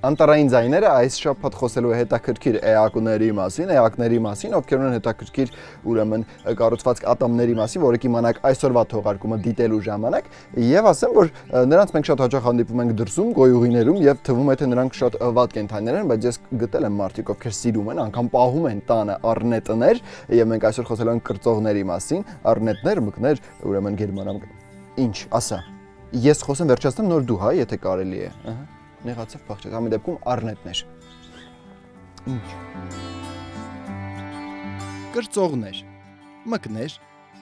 Անտարային ձայները այս շաբաթ խոսելու է հետաքրքիր էակների մասին, ովքեր ունեն հետաքրքիր ուրեմն կառուցվածք ատամների մասին, որը կիմանաք այսօրվա թողարկումը դիտելու ժամանակ, եւ ասեմ, որ նրանց մենք շատ հաճախ հանդիպում ենք դրսում, գոյուղիներում եւ թվում է թե նրանք շատ վատ կենդանիներ են, բայց ես գտել եմ մարդիկ, ովքեր սիրում են, անգամ պահում են տանը առնետներ, եւ մենք այսօր խոսելու ենք կրծողների մասին, առնետներ, մկներ, ուրեմն գերմանամ։ Ինչ, ասա։ Ես խոսեմ վերջացնեմ, նոր դու, հա, եթե կարելի է, ահա։ Նեղացավ փախչեց, ամեն դեպքում առնետներ։ Ինչ։ Կրծողներ, մկներ,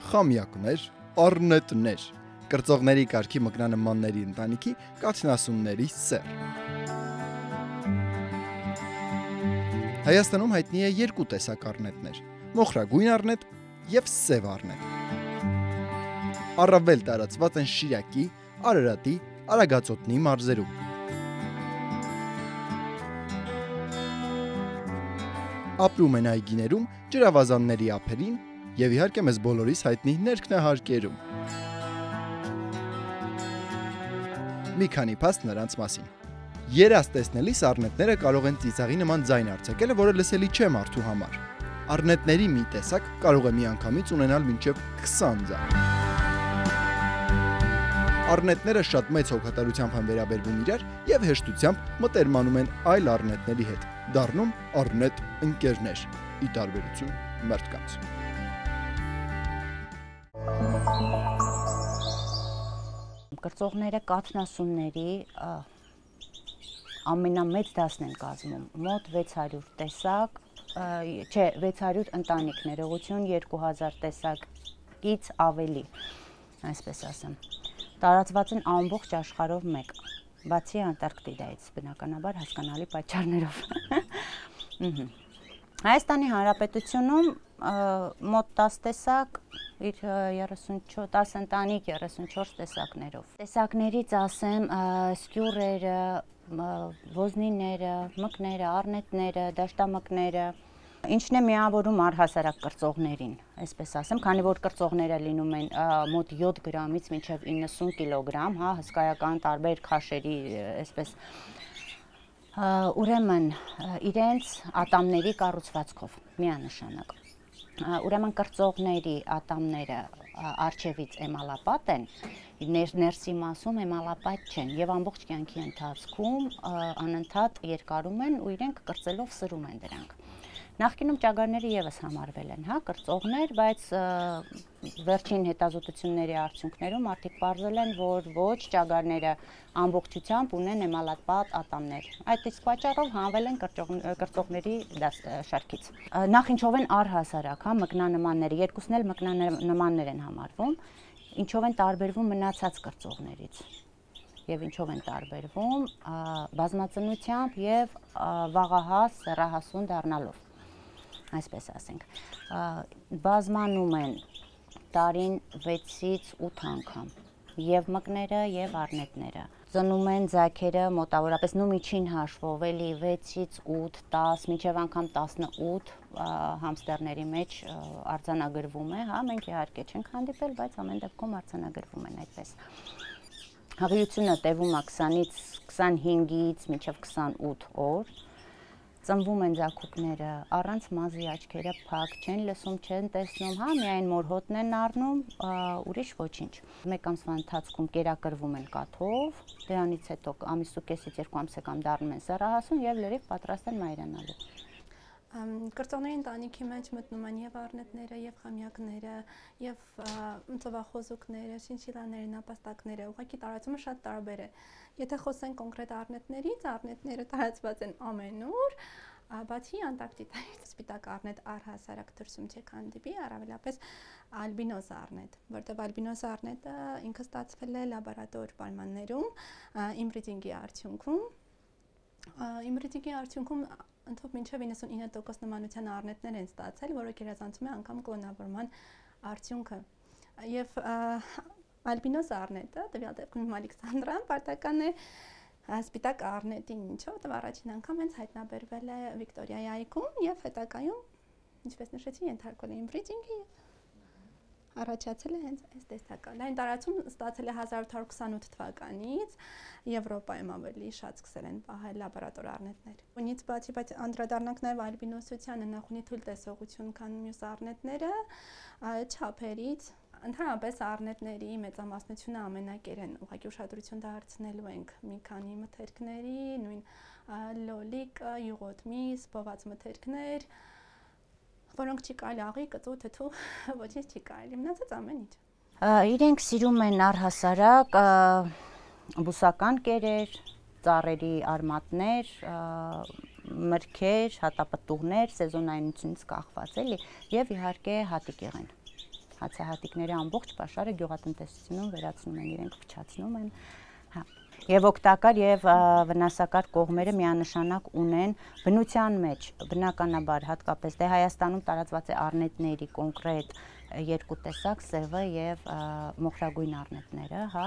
խամյակներ, առնետներ։ Կրծողների կարգի մկնանմանների ընտանիքի կաթնասունների սեռ։ Հայաստանում հայտնի է երկու տեսակ առնետներ՝ մոխրագույն առնետ եւ սև առնետ։ Առավել տարածված են Շիրակի, Արարատի, Արագածոտնի մարզերում։ Ապրում են այգիներում, ջրավազանների ափերին եւ իհարկե մեզ բոլորիս հայտնի ներքնահարկերում։ Մի քանի փաստ նրանց մասին։ Երազ տեսնելիս առնետները կարող են ծիծաղի նման ձայն արձակել, որը լսելի չէ մարդու համար։ Առնետների մի տեսակ կարող է միանգամից ունենալ մինչև 20 ձայն։ Առնետները շատ մեծ հոգատարությամբ են վերաբերվում իրար եւ հեշտությամբ մտերմանում են այլ առնետների հետ, դառնում առնետ ընկերներ, ի տարբերություն մարդկանց։ Կրծողները կաթնասունների ամենամեծ դասն են կազմում, մոտ 600 տեսակ, չէ, 600 ընտանիք, ներողություն, 2000 տեսակից ավելի, այսպես ասեմ։ Տարածված են ամբողջ աշխարհով մեկ, բացի Անտարկտիդայից, բնականաբար հասկանալի պատճառներով։ Հայաստանի Հանրապետությունում մոտ 10 տեսակ, իր 10 ընտանիք 34 տեսակներով։ Տեսակներից ասեմ սկյուրերը, ոզնիները, մկները, առնետները, դաշտամկները, ինչն է միավորում առհասարակ կրծողներին, այսպես ասեմ, քանի որ կրծողները լինում են մոտ 7 գրամից մինչև 90 կիլոգրամ, հա, հսկայական տարբեր քաշերի, այսպես, ուրեմն իրենց ատամների կառուցվածքով, միանշանակ, ուրեմն կրծողների ատամները առջևից էմալապատ են, ներսի մասում էմալապատ չեն եւ ամբողջ կյանքի ընթացքում անընդհատ երկարում են ու իրենք կրծելով սրում են դրանք։ Նախկինում ճագարները եւս համարվել են, հա, կրծողներ, բայց վերջին հետազոտությունների արդյունքներում արդյոք պարզել են, որ ոչ ճագարները ամբողջությամբ ունեն էմալապատ ատամներ։ Այդ իսկ պատճառով հանվել են կրծողների շարքից։ Նախ ինչով են առհասարակ, հա, մկնանմանները, երկուսն էլ մկնանմաններ են համարվում, ինչով են տարբերվում մնացած կրծողներից եւ ինչով են տարբերվում բազմածնությամբ եւ վաղահաս սեռահասուն դառնալով, այսպես ասենք, բազմանում են տարին 6-ից 8 անգամ եւ մկները եւ առնետները, ծնում են ձագերը մոտավորապես նու միջին հաշվով էլի 6-ից 8, 10, մինչև անգամ 18 համստերների մեջ արձանագրվում է, հա, մենք իհարկե չենք հանդիպել, բայց ամեն դեպքում արձանագրվում են այդպես։ Հղիությունը տևում է 20-ից 25-ից մինչև 28 օր, ծնվում են ձագուկները, առանց մազի, աչքերը փակ, չեն լսում, չեն տեսնում, հա, միայն մորհոտն են առնում, ուրիշ ոչինչ։ Մեկ ամսվա ընթացքում կերակրվում են կաթով, դրանից հետո ամիս ու կեսից 2 ամսեկան դառնում են սեռահասուն եւ լրիվ պատրաստ են մայրանալու։ Կրծողների ընտանիքի մեջ մտնում են եւ առնետները, եւ խամյակները, եւ ծովախոզուկները, շինշիլաները, նապաստակները, ուղղակի տարածումը շատ տարբեր է։ Եթե խոսենք կոնկրետ առնետներից, առնետները տարածված են ամենուր, բացի Անտարկտիդայից, սպիտակ առնետ առհասարակ դրսում չեք հանդիպի, առավելապես ալբինոզ առնետ, որտեղ ալբինոզ առնետը ինքը ստացվել է լաբորատոր պայմաններում, իմբրիդինգի արդյունքում։ Իմբրիդինգի արդյունքում ընդհանուր մինչև 99% նմանության առնետներ են ստացել, որը գերազանցում է անգամ կլոնավորման արդյունքը։ Եվ ալբինոզ առնետը, տվյալ դեպքում Ալեքսանդրան, պարտական է սպիտակ առնետին, ինչով որտեղ առաջին անգամ հենց հայտնաբերվել է Վիկտորիայի այգում եւ հետագայում, ինչպես նշեցի, ենթարկվել է իմբրիդինգի Առաջացել է հենց այս տեսակը։ Լայն տարածում ստացել է 1828 թվականից, Եվրոպայում ավելի շատ սկսել են պահել լաբորատոր առնետներ։ Ունից բացի, բայց անդրադառնանք նաև ալբինոսությանը, նախ ունի թույլ տեսողություն, քան մյուս առնետները, չափերից Ընդհանրապես առնետների մեծամասնությունը ամենակեր են, ուղղակի ուշադրություն դարձնելու ենք մի քանի մթերքների, նույն լոլիկը, յուղոտ-միս, բոված մթերքներ, որոնք չի կարելի աղի, կծու, թթու, ոչինչ չի կարելի, մնացած ամեն ինչ։ Իրենք սիրում են առհասարակ բուսական կերեր, ծառերի արմատներ, մրգեր, հատապտուղներ, սեզոնայնությունից կախված էլի, եւ իհարկե հատիկեղեն։ Հացահատիկների ամբողջ պաշարը գյուղատնտեսությունում վերացնում են, իրենք փչացնում են, հա։ Եվ օգտակար եւ վնասակար կողմերը միանշանակ ունեն բնության մեջ, բնականաբար հատկապես դե Հայաստանում տարածված է առնետների կոնկրետ երկու տեսակ, սևը եւ մոխրագույն առնետները, հա,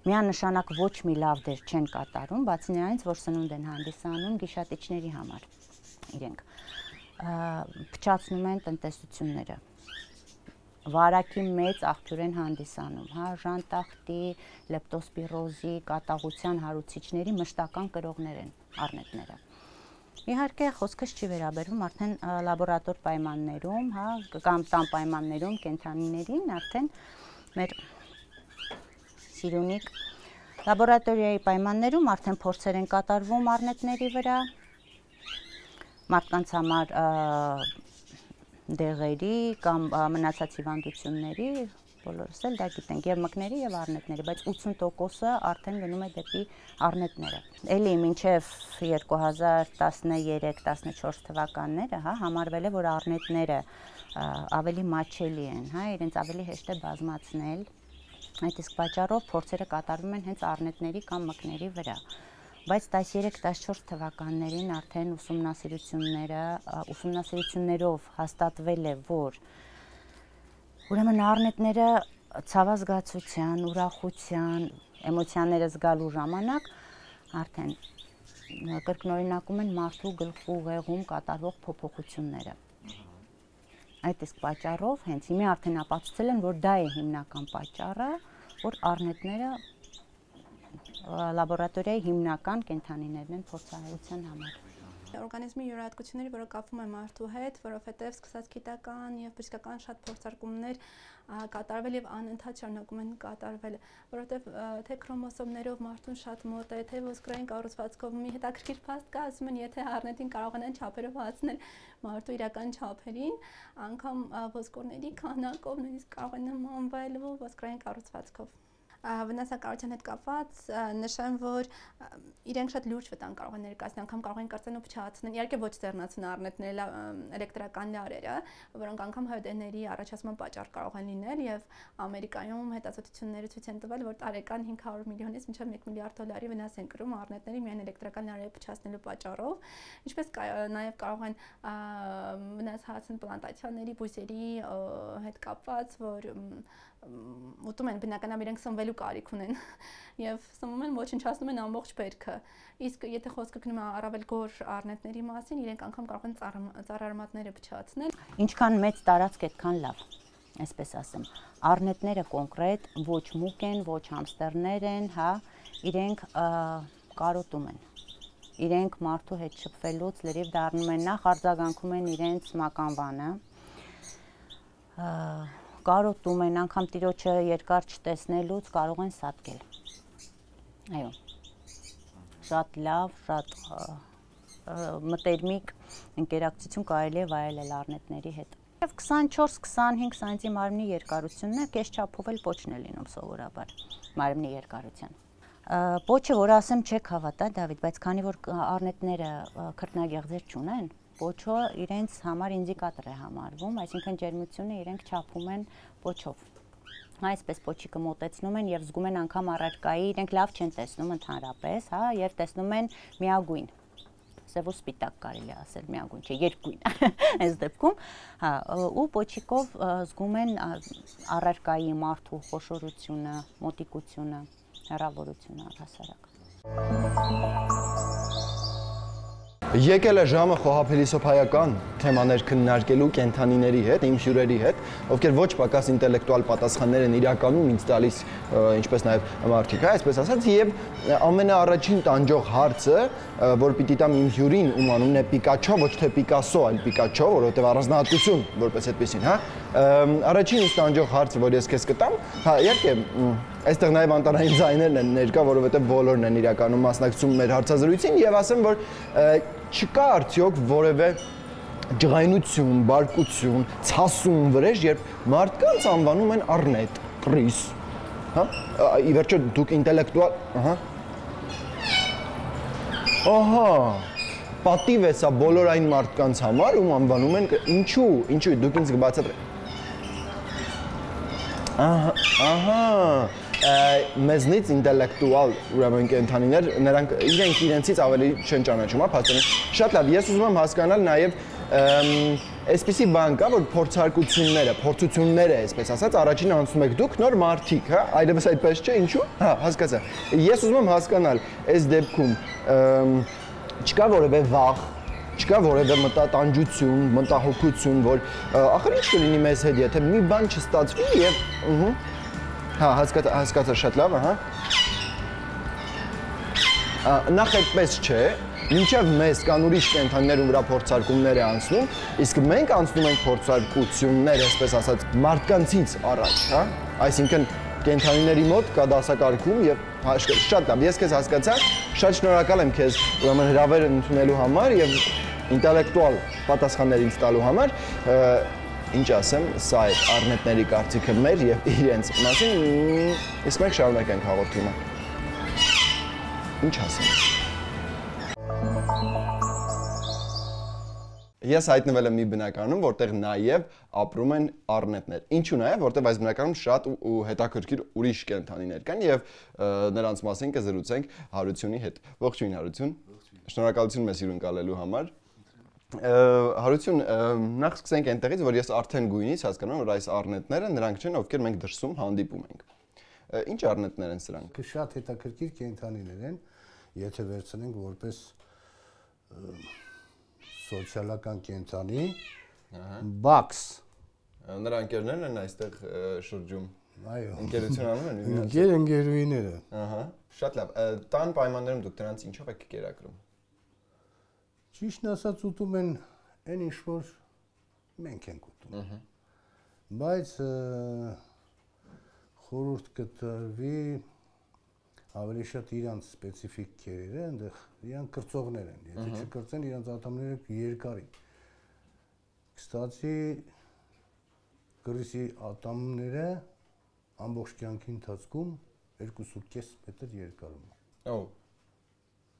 միանշանակ ոչ մի լավ դեր չեն կատարում, բացի նրանից, որ սնունդ են հանդիսանում գիշատիչների համար։ Իրենք փչացնում են տնտեսությունները։ Վարակի մեծ աղբյուր են հանդիսանում, հա, ժանտախտի, լեպտոսպիրոզի, կատաղության հարուցիչների մշտական կրողներ են առնետները։ Իհարկե խոսքս չի վերաբերվում արդեն լաբորատոր պայմաններում, հա, կամ տան պայմաններում կենդանիներին, արդեն մեր սիրունիկ լաբորատորիայի պայմաններում արդեն փորձեր են կատարվում առնետների վրա, մարդկանց համար դեղերի կամ մնացած հիվանդությունների, բոլորս էլ դա գիտենք, եւ մկների եւ առնետների, բայց 80%-ը արդեն գնում է դեպի առնետները։ Էլի մինչեւ 2013-14 թվականները, հա, համարվել է, որ առնետները ավելի մատչելի են, հա, իրենց ավելի հեշտ է բազմացնել։ Այդ իսկ պատճառով փորձերը կատարվում են հենց առնետների կամ մկների վրա։ Բայց 13-14 թվականներին արդեն ուսումնասիրություններով հաստատվել է, որ ուրեմն առնետները ցավազգացության, ուրախության, էմոցիաները զգալու ժամանակ արդեն կրկնօրինակում են մարդու գլխու ուղեղում կատարվող փոփոխությունները։ Այդ իսկ պատճառով հենց հիմա արդեն ապացուցել են, որ դա է հիմնական պատճառը, որ առնետները լաբորատորիայի հիմնական կենդանիներն են փորձահարության համար։ Օրգանիզմի յուրահատկությունների, որը կապվում է մարդու հետ, որովհետև սկսած գիտական եւ բժշկական շատ փորձարկումներ կատարվել եւ անընդհատ շարունակում են կատարվել, որովհետև թե քրոմոսոմներով մարդուն շատ մոտ է, թե ոսկրային կառուցվածքով մի հետաքրքիր փաստ կա, ասում են, եթե առնետին կարողանան չափերով հասնել մարդու իրական չափերին, անգամ ոսկորների քանակով նույնիսկ կարող են նմանվել ոսկրային կառուցվածքով։ Վնասակարության հետ կապված նշեմ, որ իրենք շատ լուրջ վտանգ կարող են ներկայացնել, անգամ կարող են կրծեն ու փչացնել, իհարկե ոչ ձեռնացուն առնետները, էլեկտրական լարերը, որոնք անգամ ՀԴ-ների առաջացման պատճառ կարող են լինել եւ Ամերիկայում հետազոտությունները ցույց են տվել, որ տարեկան 500 միլիոնից մինչեւ 1 միլիարդ դոլարի վնաս են կրում առնետների միայն էլեկտրական լարերը փչացնելու պատճառով, ինչպես նաեւ կարող են վնաս հասցնել պլանտացիաների, բույսերի հետ կապված, որ ուտում են բնականաբար իրենք սնվելու կարիք ունեն եւ սնվում են ոչնչացնում են ամբողջ բերքը իսկ եթե խոսքը գնում է առավել գոր առնետների մասին իրենք անգամ կարող են ծառարմատները փչացնել ինչքան մեծ տարածք այդքան լավ այսպես ասեմ առնետները կոնկրետ ոչ մուկ են ոչ համստերներ են հա իրենք կարոտում են իրենք մարդու հետ շփվելուց լրիվ դառնում են նախ արձագանքում են իրենց մականվանը կարոտում են, անգամ տիրոջը երկար չտեսնելուց կարող են սատկել։ Այո, շատ լավ, շատ մտերմիկ ընկերակցություն կարելի է վայելել առնետների հետ։ Եվ 24-25 սանտի մարմնի երկարությունն է, կես չափով էլ պոչն է լինում սովորաբար մարմնի երկարության։ Պոչը, որ ասեմ, չեք հավատա, Դավիթ, բայց քանի որ առնետները քրտնագեղձեր չունեն, պոչը իրենց համար ինդիկատոր է համարվում, այսինքն ջերմությունը իրենք չափում են պոչով։ Այսպես պոչիկը մոտեցնում են եւ զգում են անգամ առարկայի, իրենք լավ չեն տեսնում ընդհանրապես, հա, եւ տեսնում են միագույն։ Սև ու սպիտակ կարելի ասել, միագույն չէ, երկգույն այս դեպքում, հա, ու պոչիկով զգում են առարկայի մարդու խոշորությունը, մոտիկությունը, հեռավորությունը առհասարակ։ Եկել է ժամը խոհափիլիսոփայական թեմաներ քննարկելու կենդանիների հետ, իմ հյուրերի հետ, ովքեր ոչ պակաս ինտելեկտուալ պատասխաններ են իրականում ինձ տալիս, ինչպես նաև մարդիկ, այսպես ասած, եւ ամենաառաջին տանջող հարցը, որ պիտի տամ իմ հյուրին, ում անունն է Պիկաչո, ոչ թե Պիկասո, այլ Պիկաչո, որովհետեւ առանձնահատկություն որպես այդպեսին, հա։ Առաջին ինձ տանջող հարցը, որ ես քեզ կտամ, հա, իհարկե, այստեղ նաև անտարային ձայներն են ներկա, որովհետեւ բոլորն են իրականում մասնակցում մեր հարցազրույցին եւ ասեմ, որ չկա արդյոք որևէ ջղայնություն, բարկություն, ցասում վրեժ, երբ մարդկանց անվանում են առնետ, կռիս, հա? Ի վերջո դուք ինտելեկտուալ, ահա, պատիվ է սա բոլոր այն մարդկանց համար, ում անվանում են ինչու, դուք ինձ կբացատրեք։ Ահա, մեզնից ինտելեկտուալ ուրեմն կենդանիներ, նրանք իրենցից ավելի չեն ճանաչում, հա, փաստորեն։ Շատ լավ, ես ուզում եմ հասկանալ նաև այսպիսի բան կա, որ փորձությունները, այսպես ասած, առաջին անցնում եք դուք նոր մարդիկ, հա, այլևս այդպես չէ, ինչու՞։ Հա, հասկացա։ Ես ուզում եմ հասկանալ, այս դեպքում չկա որևէ վախ, չկա որևէ մտատանջություն, մտահոգություն, որ ախր ինչ կլինի մեզ հետ, եթե մի բան չստացվի եւ հա, հասկացա շատ լավ, ահա։ Նախ այդպես չէ, մինչև մեզ կան ուրիշ կենդանիներ, ում վրա փորձարկումներ է անցնում, իսկ մենք անցնում ենք փորձարկություններ, այսպես ասած, մարդկանցից առաջ, հա։ Այսինքն կենդանիների մոտ կա դասակարգում եւ շատ լավ, ես քեզ հասկացա, շատ շնորհակալ եմ քեզ ուրեմն հրավեր ընդունելու համար եւ ինտելեկտուալ պատասխաններ ինձ տալու համար։ Ինչ ասեմ, սա է առնետների կարծիքը մեր եւ իրենց մասին, իսկ մենք շարունակենք հաղորդումը։ Ինչ ասեմ։ Ես հայտնվել եմ մի բնակարանում, որտեղ նաեւ ապրում են առնետներ։ Ինչու նաեւ, որտեղ այս բնակարանում շատ ու հետաքրքիր ուրիշ կենդանիներ կան եւ նրանց մասին կզրուցենք Հարությունի հետ։ Ողջույն Հարություն։ Շնորհակալություն մեզ հյուրընկալելու համար։ Հարություն, նախ սկսենք այնտեղից, որ ես արդեն գույնից հասկանում եմ, որ այս առնետները նրանք չեն, ովքեր մենք դրսում հանդիպում ենք։ Ինչ առնետներ են սրանք։ Շատ հետաքրքիր կենդանիներ են, եթե վերցնենք որպես սոցիալական կենդանի, բաքս։ Նրա ընկերներն են այստեղ շրջում։ Այո։ Ընկերություն անում են։ Ընկերուհիները։ Ահա, շատ լավ։ Տան պայմաններում դուք դրանց ինչով եք կերակրում։ Ճիշտն ասած ուտում են այն ինչ որ մենք ենք ուտում։ Բայց խորհուրդ կտրվի ավելի շատ իրանց սպეციფიկ քերերը, այնտեղ իրանք կրծողներ են։ Եթե չկրծեն, իրանց ատամները երկարի։ Կստացի կրիսի ատամները ամբողջ կյանքի ընթացքում 2.5 մետր երկարում են։ Օ։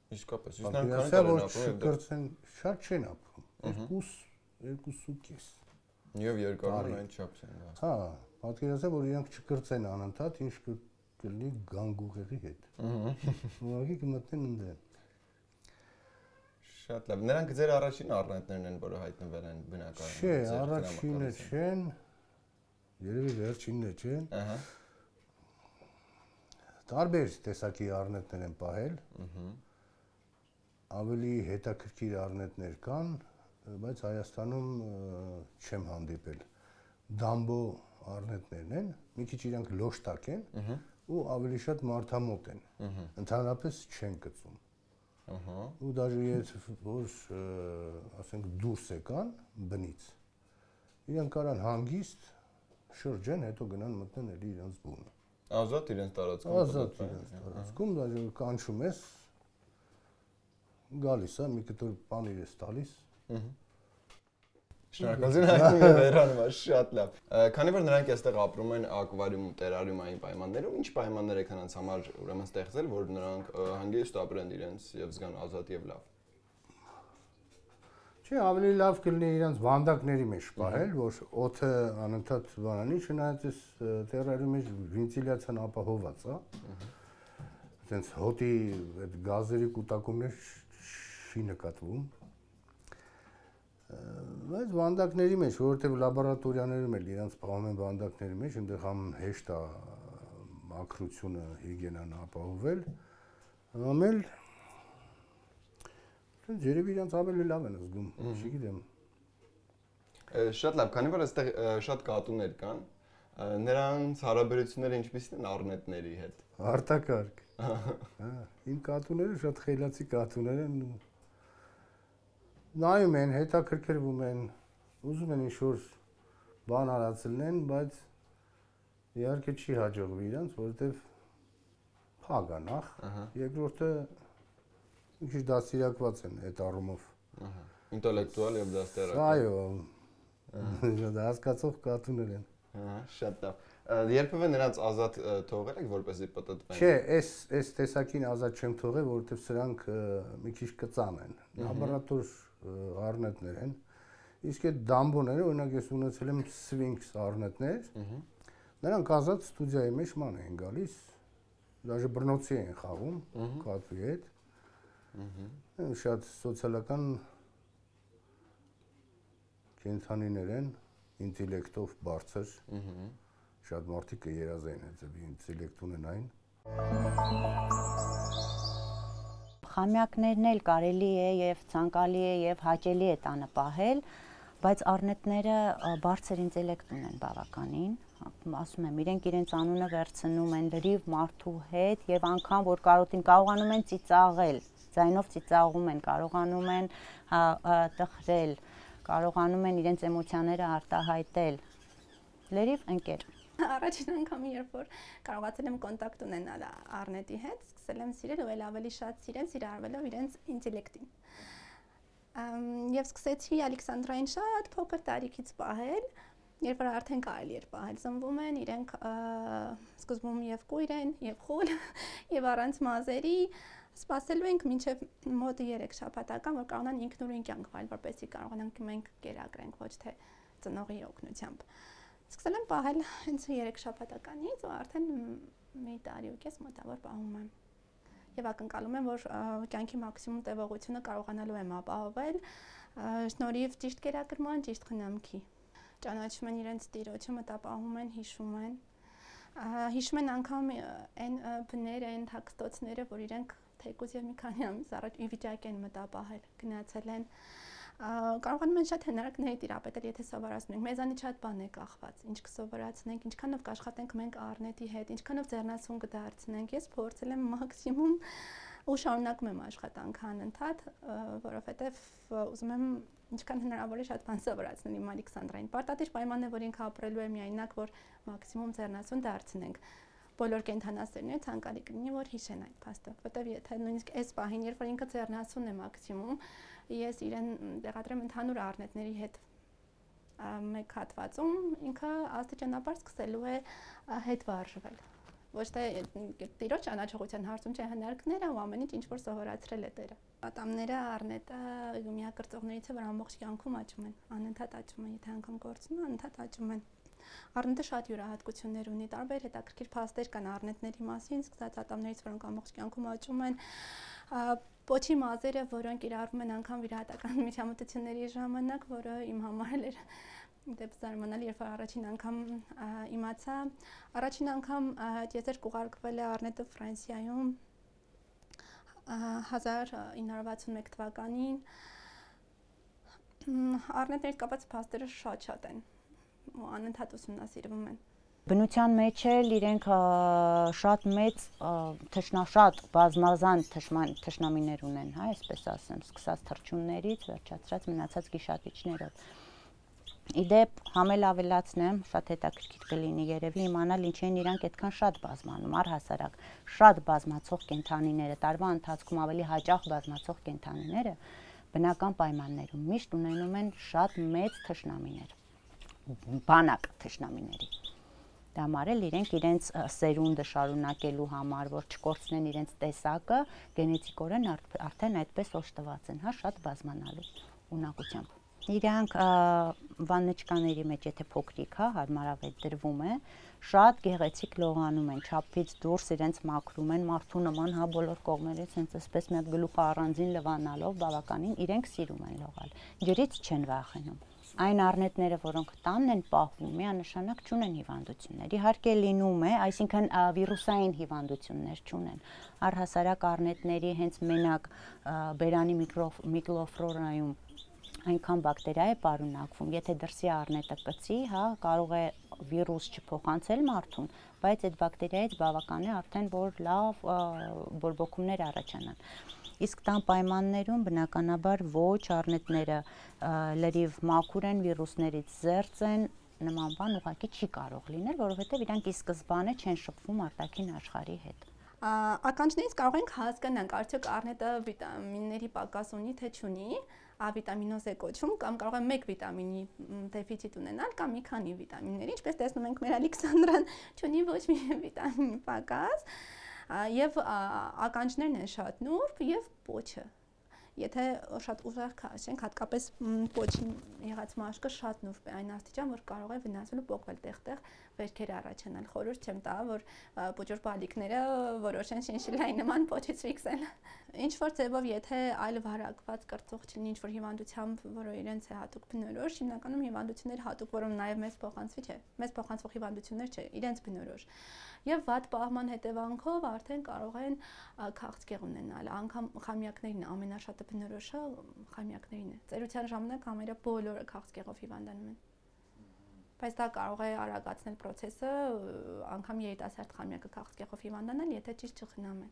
Իսկապես, իսկ նրանք չկրծեն, շատ չեն ապրում։ 2.5։ Եվ երկարում այն չափս են։ Հա, պատկերացրեք, որ իրանք չկրծեն անընդհատ, ինչ կլինի գանգուղեղի հետ։ Ուղղակի կմտնեն ընդդեմ։ Շատ լավ։ Նրանք ձեր առաջին առնետներն են, որը հայտնվել են բնակարանում։ Չէ, առաջինը չեն։ Երևի վերջինն չեն։ Ահա։ Տարբեր տեսակի առնետներ են պահել։ Ավելի հետաքրքիր առնետներ կան, բայց Հայաստանում չեմ հանդիպել։ Դամբո առնետներն են, մի քիչ իրանք լոշտակ են ու ավելի շատ մարդամոտ են։ Ընդհանրապես չեն կծում։ Ու դաժե եթե որ ասենք դուրս եկան բնից, իրանք կարան հանգիստ շրջեն, հետո գնան մտնեն էլի իրանց բունը։ Ազատ իրենց տարածքում։ Ազատ իրենց տարածքում, դաժե կանչում ես գալիս է, մի կտոր բան իրես տալիս։ Շնորհակալություն հայտնի եմ վերանում, շատ լավ։ Քանի որ նրանք այստեղ ապրում են ակվարիումում, տերարիումային պայմաններում, ինչ պայմաններ եք նրանց համար ուրեմն ստեղծել, որ նրանք հանգիստ ապրեն իրենց եւ զգան ազատ եւ լավ։ Չէ, ավելի լավ կլինի իրենց վանդակների մեջ պահել, որ օդը անընդհատ բանանի, չնայած այս տերարիումի մեջ վենտիլյացիան ապահովված է։ Այդպես հոտի այդ գազերի կուտակումներ չի նկատվում։ Բայց վանդակների մեջ, որովհետև լաբորատորիաներում էլ իրանց պահում են վանդակների մեջ, այնտեղ համ հեշտ է մաքրությունը, հիգիենան ապահովել, համ էլ Երևի իրանց ավելի լավ են զգում, չգիտեմ։ Շատ լավ, քանի որ այստեղ շատ կատուներ կան, նրանց հարաբերությունները ինչպիսին են առնետների հետ։ Արտակարգ։ Իմ կատուները շատ խելացի կատուներ են։ Նայում են, հետաքրքրվում են, ուզում են ինչ-որ բան արածելնեն, բայց իհարկե չի հաջողվի իրանց, որովհետև փագ է նախ, երկրորդը մի քիչ դաստիարակված են այդ առումով։ Ինտելեկտուալ եւ դաստիարակված։ Այո, դա հասկացող կատուներ են։ Շատ լավ։ Երբևէ նրանց ազատ թողել եք, որպեսզի պտտվեն։ Չէ, այս տեսակին ազատ չեմ թողել, որովհետև սրանք մի քիչ կծան են։ Լաբորատոր առնետներ են։ Իսկ այդ դամբոները, օրինակ ես ունեցել եմ Sphinx առնետներ, նրանք ազատ ստուդիայի մեջ ման են գալիս, դաժե բռնոցի են խաղում կատուի հետ։ Շատ սոցիալական կենդանիներ են, ինտելեկտով բարձր, շատ մարդիկ երազային այդ ինտելեկտ ունենային։ Խամյակներն էլ կարելի է եւ ցանկալի է եւ հաճելի է տանը պահել, բայց առնետները բարձր ինտելեկտ ունեն բավականին, ասում եմ, իրենց անունը վերցնում են լրիվ մարդու հետ եւ անգամ որ կարողանում են ծիծաղել, ձայնով ծիծաղում են, կարողանում են տխրել, կարողանում են իրենց էմոցիաները արտահայտել։ Լրիվ ընկեր։ Առաջին անգամ երբ որ կարողացել եմ կոնտակտ ունենալ առնետի հետ, սկսել եմ սիրել ու ավելի շատ սիրարվելով իրենց ինտելեկտին։ Եվ սկսեցի Ալեքսանդրային շատ փոքր տարիքից պահել, երբ որ արդեն կարելի էր պահել, ծնվում են իրենք սկզբում եւ կույր են, եւ խուլ, եւ առանց մազերի, սպասելու ենք մինչեւ մոտ 3 շաբաթական, որ կարողանան ինքնուրույն կյանք վարել, որպեսզի կարողանանք մենք կերակրենք, ոչ թե ծնողի օգնությամբ։ Սկսել եմ պահել հենց 3 շաբաթականից ու արդեն մի տարի ու կես մոտավոր պահում եմ։ Եվ ակնկալում եմ, որ կյանքի մաքսիմում տևողությունը կարողանալու եմ ապահովել շնորհիվ ճիշտ կերակրման, ճիշտ խնամքի։ Ճանաչում են իրենց տիրոջը, մտապահում են, հիշում են։ Հիշում են անգամ այն բները, այն թաքստոցները, որ իրենք թեկուզ եւ մի քանի ամիս առաջ ի վիճակի են մտապահել, գնացել են։ Կարողանում են շատ հնարքների տիրապետել, եթե սովորացնում ենք։ Մեզանից շատ բան է կախված, ինչ կսովորացնենք, ինչքանով կաշխատենք մենք առնետի հետ, ինչքանով ձեռնասուն կդարձնենք։ Ես փորձել եմ մաքսիմում ու շարունակում եմ աշխատանքը անընդհատ, որովհետև ուզում եմ ինչքան հնարավոր է շատ բան սովորացնել իմ Ալեքսանդրային։ Պարտադիր պայմանն է, որ ինքը ապրելու է միայնակ, որ մաքսիմում ձեռնասուն դարձնենք։ Բոլոր կենդանասերները ցանկալի կլինի, որ հիշեն այդ փաստը, որտեվ եթե նույնիսկ այս պահին, երբ որ ինքը ձեռնասուն է մաքսիմում, ես իրեն տեղադրեմ ընդհանուր առնետների հետ մեկ հատվածում, ինքը աստիճանաբար սկսելու է հետ վարժվել։ Ոչ թե տիրոջ ճանաչողության հարցում չէ, հնարքները ու ամեն ինչ որ սովորացրել է տերը։ Ատամները առնետը միակրծողներից է, որ ամբողջ կյանքում աճում են, անընդհատ աճում են, եթե անգամ կորցնում, անընդհատ աճում են։ Առնետը շատ յուրահատկություններ ունի, տարբեր հետաքրքիր փաստեր կան առնետների մասին, սկսած ատամներից, որոնք ամբողջ կյանքում աճում են, պոչի մազերը, որոնք իրարվում են անգամ վիրահատական միջամտությունների ժամանակ, որը իմ համար էր դեպ զարմանալի, երբ առաջին անգամ իմացա, առաջին անգամ եզեր կուղարկվել է առնետը Ֆրանսիայում 1961 թվականին, առնետներից կապված փաստերը շատ են ու անընդհատ ուսումնասիրվում են։ Բնության մեջ էլ իրենք շատ մեծ շատ բազմազան թշնամիներ ունեն, հա, այսպես ասեմ, սկսած թռչուններից, վերջացրած մնացած գիշատիչներով։ Իդեպ համել ավելացնեմ, շատ հետաքրքիր կլինի երևի իմանալ ինչ են իրանք այդքան շատ բազմանում, առհասարակ շատ բազմացող կենդանիները, տարվա ընթացքում ավելի հաճախ բազմացող կենդանիները բնական պայմաններում միշտ ունենում են շատ մեծ թշնամիներ, բանակ թշնամիների։ Դա մարել իրենց սերունդը շարունակելու համար, որ չկորցնեն իրենց տեսակը, գենետիկորեն արդեն այդպես օժտված են, հա, շատ բազմանալու ունակությամբ։ Իրանք վաննեչկաների մեջ, եթե փոքրիկ, հա, հարմարավետ դրվում է, շատ գեղեցիկ լողանում են, չափից դուրս իրենց մաքրում են, մարդու նման, հա, բոլոր կողմերից հենց այսպես մի հատ գլուխը առանձին լվանալով բավականին իրենք սիրում են լողալ։ Ջրից չեն վախենում։ այն առնետները, որոնք տանն են պահվում, միանշանակ չունեն հիվանդություններ։ Իհարկե լինում է, այսինքն վիրուսային հիվանդություններ չունեն։ Առհասարակ առնետների հենց մենակ բերանի միկրոֆլորայում այնքան բակտերիա է պարունակվում, եթե դրսի առնետը կծի, հա, կարող է վիրուս չփոխանցել մարդուն, բայց այդ բակտերիայից բավական է արդեն որ լավ բորբոքումներ առաջանան։ Իսկ տան պայմաններում բնականաբար ոչ առնետները լրիվ մաքուր են, վիրուսներից զերծ են, նման բան ուղղակի չի կարող լինել, որովհետև իրանք ի սկզբանե չեն շփվում արտաքին աշխարհի հետ։ Ականջներից կարող ենք հասկանանք, արդյոք առնետը վիտամինների պակաս ունի թե չունի, ավիտամինոզ է կոչվում, կամ կարող է մեկ վիտամինի դեֆիցիտ ունենալ, կամ մի քանի վիտամինների, ինչպես տեսնում ենք մեր Ալեքսանդրան չունի ոչ մի վիտամինի պակաս, եւ ականջներն են շատ նուրբ եւ պոչը։ Եթե շատ ուժեղ քաշենք, հատկապես պոչի եղած մաշկը շատ նուրբ է այն աստիճան, որ կարող է վնասվել ու պոկվել տեղ-տեղ վերքեր առաջանալ։ Խորհուրդ չեմ տա, որ պոճոր բալիկները որոշեն շինշիլայի նման պոչից ֆիքսել։ Ինչ որ ձևով, եթե այլ վարակված կրծող չլինի, ինչ որ հիվանդությամբ, որը իրենց է հատուկ բնորոշ, հիմնականում հիվանդություններ հատուկ, որոնք նաև մեզ փոխանցվի չէ, մեզ փոխանցվող հիվանդություններ չէ, իրենց բնորոշ։ Եվ վատ պահման հետևանքով արդեն կարող են քաղցկեղ ունենալ, անգամ խամյակներին ամենաշատը բնորոշը խամյակներին է։ Ծերության ժամանակ ամենը բոլորը քաղցկեղով հիվանդանում են։ Բայց դա կարող է արագացնել process-ը, անգամ երիտասարդ խամյակը քաղցկեղով հիվանդանալ, եթե ճիշտ չխնամեն։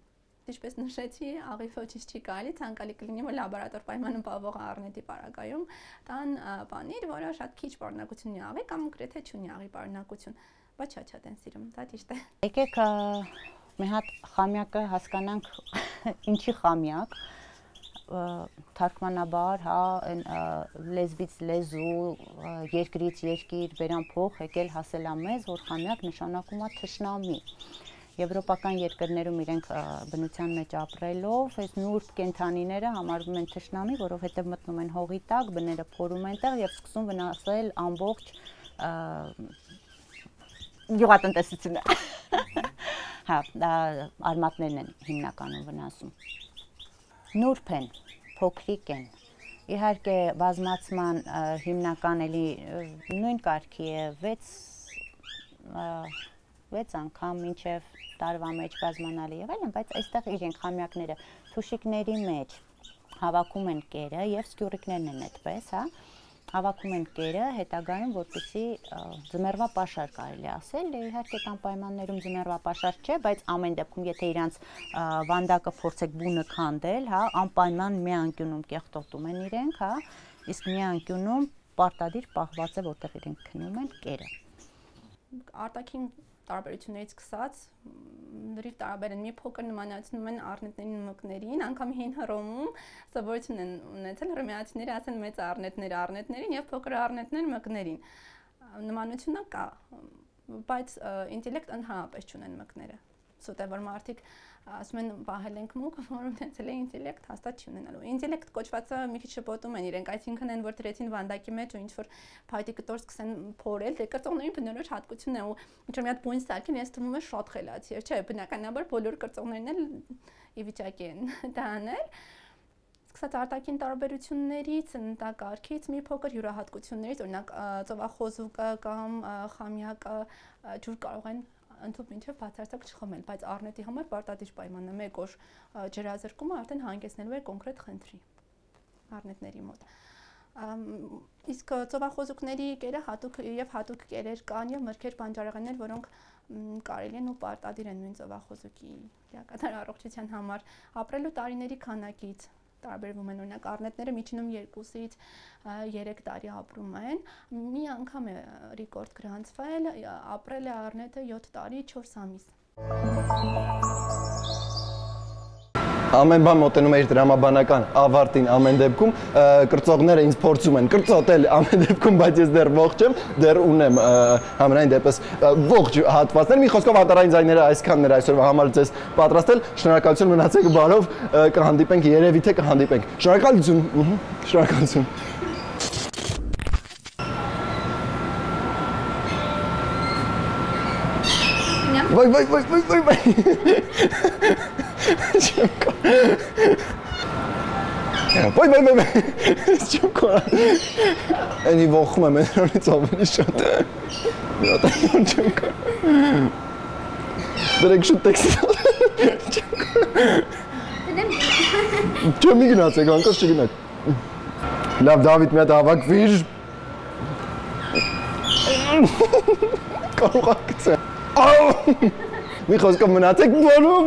Ինչպես նշեցի, աղի ոչինչ չի կարելի, ցանկալի կլինի, որ լաբորատոր պայմանում պահվող առնետի պարագայում տան պանիր, որը շատ քիչ պարունակություն ունի աղի կամ գրեթե չունի աղի պարունակություն, բայց շատ են սիրում, դա ճիշտ է։ Եկեք մի հատ խամյակը հասկանանք ինչի խամյակ, թարգմանաբար, հա, լեզվից լեզու, երկրից երկիր, բերան փող եկել հասել մեզ, որ խամյակ նշանակում է թշնամի։ Եվրոպական երկրներում իրենք բնության մեջ ապրելով, այս նուրբ կենդանիները համարվում են թշնամի, որովհետև մտնում են հողի տակ, բները փորում են տեղ եւ սկսում վնասել ամբողջ գյուղատնտեսությունը։ Հա, արմատներն են հիմնականում վնասում։ Նուրբ են, փոքրիկ են։ Իհարկե բազմացման հիմնական էլի նույն կարգի է 6 անգամ մինչև տարվա մեջ բազմանալի եղել են, բայց այստեղ իրենք խամյակները թուշիկների մեջ հավաքում են կերը եւ սկյուրիկներն են այդպես, հա, հավաքում են կերը հետագայում, որպեսզի ձմեռվա պաշար կարելի ասել, իհարկե տան պայմաններում ձմեռվա պաշար չէ, բայց ամեն դեպքում եթե իրանց վանդակը փորձեք բունը քանդել, հա, անպայման մի անկյունում կեղտոտում են իրենք, հա, իսկ մի անկյունում պարտադիր պահված է, որտեղ իրենք քնում են կերը։ Արտաքին տարբերություններից սկսած լրիվ տարբեր են, մի փոքր նմանացնում են առնետների մկներին, անգամ հին Հռոմում սովորություն են ունեցել հռոմեացիները ասեն մեծ առնետներին եւ փոքր առնետներ մկներին։ Նմանությունը կա, բայց ինտելեկտ ընդհանրապես չունեն մկները։ Սուտ է որ մարդիկ ասում են պահել ենք մուկ, որում ունեցել է ինտելեկտ, հաստատ չի ունենալու։ Ինտելեկտ կոչվածը մի քիչ շփոթում են իրենք, այսինքն են որ դրեցին վանդակի մեջ ու ինչ որ փայտի կտոր սկսեն փորել, դե կրծողների բնորոշ հատկությունն է ու ինչ որ մի հատ բույն սարքին ես թվում է շատ խելացի է, չէ, բնականաբար բոլոր կրծողներն էլ ի վիճակի են դա անել։ Սկսած արտաքին տարբերություններից, ընտակարգից մի փոքր յուրահատկություններից, օրինակ ծովախոզուկը կամ խամյակը ջուր կարող են ընդհանուր մինչև բացարձակ չխմել, բայց առնետի համար պարտադիր պայմանն է մեկ օր ջրազրկումը արդեն հանգեցնելու է կոնկրետ խնդրի առնետների մոտ։ Իսկ ծովախոզուկների կերը հատուկ եւ հատուկ կերեր կան եւ մրգեր բանջարեղեններ, որոնք կարելի են ու պարտադիր են նույն ծովախոզուկի լիակատար առողջության համար ապրելու տարիների քանակից տարբերվում են, օրինակ առնետները միջինում 2-ից 3 տարի ապրում են, մի անգամ է ռեկորդ գրանցվել, ապրել է առնետը 7 տարի 4 ամիս։ Ամեն բան մոտենում է իր դրամաբանական ավարտին ամեն դեպքում, կրծողները ինձ փորձում են կրծոտել ամեն դեպքում, բայց ես դեռ ողջ եմ, դեռ ունեմ համենայն դեպս ողջ հատվածներ, մի խոսքով հատարային ձայները այսքանն էր այսօրվա համար ձեզ պատրաստել, շնորհակալություն մնացեք բարով, կհանդիպենք, երևի թե կհանդիպենք, շնորհակալություն, շնորհակալություն։ Վայ Ոյ։ Չկա։ Էնի ողում եմ այնից ավելի շատ։ Չկա։ Դրեք շուտ տեքստ։ Չեմ գնացեք, անկած չգնաք։ Լավ Դավիթ, մի հատ հավաքվիր։ Կարող ա գցել։ Մի խոսքով մնացեք բոլում։